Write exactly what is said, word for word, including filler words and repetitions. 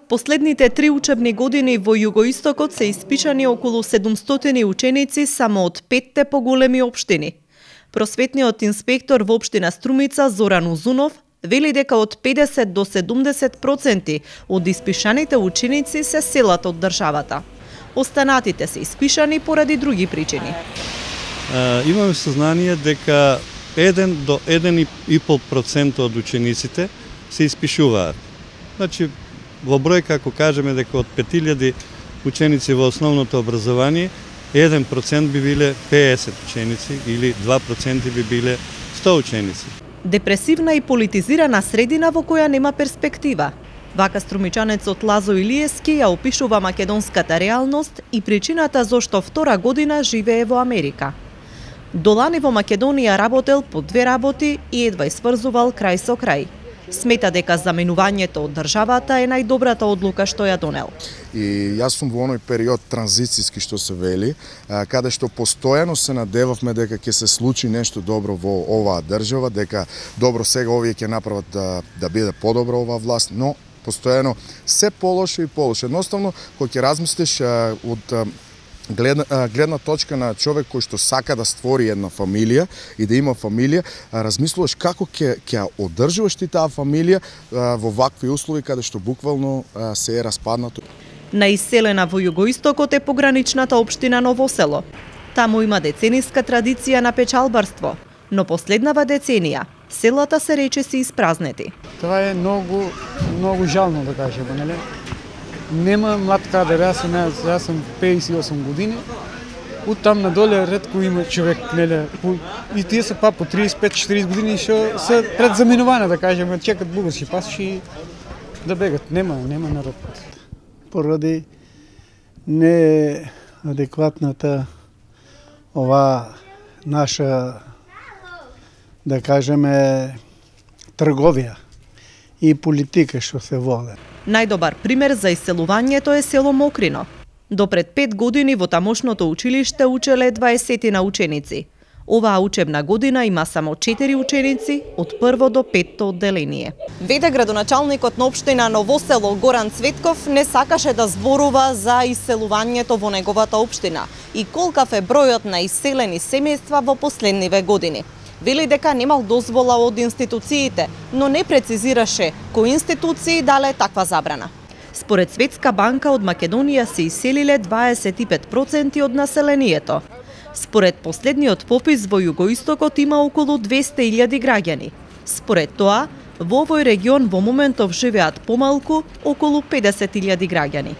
Последните три учебни години во Југоистокот се испишани околу седумстотини ученици само од петте поголеми општини. Просветниот инспектор во општина Струмица Зоран Узунов вели дека од педесет до седумдесет проценти од испишаните ученици се селат од државата. Останатите се испишани поради други причини. А, имаме сознание дека еден до еден и пол процент од учениците се испишуваат. Значи, во бројка, ако кажеме дека од пет илјади ученици во основното образование, еден процент би биле педесет ученици или два процента би биле сто ученици. Депресивна и политизирана средина во која нема перспектива. Вака струмичанецот Лазо Илиевски ја опишува македонската реалност и причината зошто втора година живее во Америка. Долани во Македонија работел по две работи и едва сврзувал крај со крај. Смета дека заменувањето од државата е најдобрата одлука што ја донел. И јас сум во оној период транзицијски што се вели, каде што постојано се надевавме дека ќе се случи нешто добро во оваа држава, дека добро сега овие ќе направат да да биде подобро оваа власт, но постојано се полошо и полошо. Едноставно, кога ќе размислиш од Гледна, гледна точка на човек кој што сака да створи една фамилија и да има фамилија, размислуваш како ќе ќе одржуваш ти таа фамилија во вакви услови каде што буквално се е распаднато. Наиселена во Југоистокот е пограничната општина Ново село. Таму има децениска традиција на печалбарство, но последнава деценија селата се речиси испразнети. Тоа е многу многу жално да кажеме, нели? Нема млад кадер, јас сум, јас сум пеесет и осум години. Од там надоле ретко има човек, нели, и тие се па по триесет и пет четиридесет години што се пред заминување, да кажеме, чекат бугарски пасоши да бегат. Нема, нема народ. Поради неадекватната ова наша, да кажеме, трговија и политика што се води. Најдобар пример за иселувањето е село Мокрино. До пред пет години во тамошното училиште учеле дваесет ученици. Оваа учебна година има само четири ученици од прво до петто одделение. Веде градоначалникот на општина Ново село Горан Цветков не сакаше да зборува за иселувањето во неговата општина и колкав е бројот на иселени семејства во последниве години. Вели дека немал дозвола од институциите, но не прецизираше кои институции дале таква забрана. Според Светска банка од Македонија се иселиле дваесет и пет проценти од населението. Според последниот попис во Југоистокот има околу двесте илјади граѓани. Според тоа, во овој регион во моментов живеат помалку околу педесет илјади граѓани.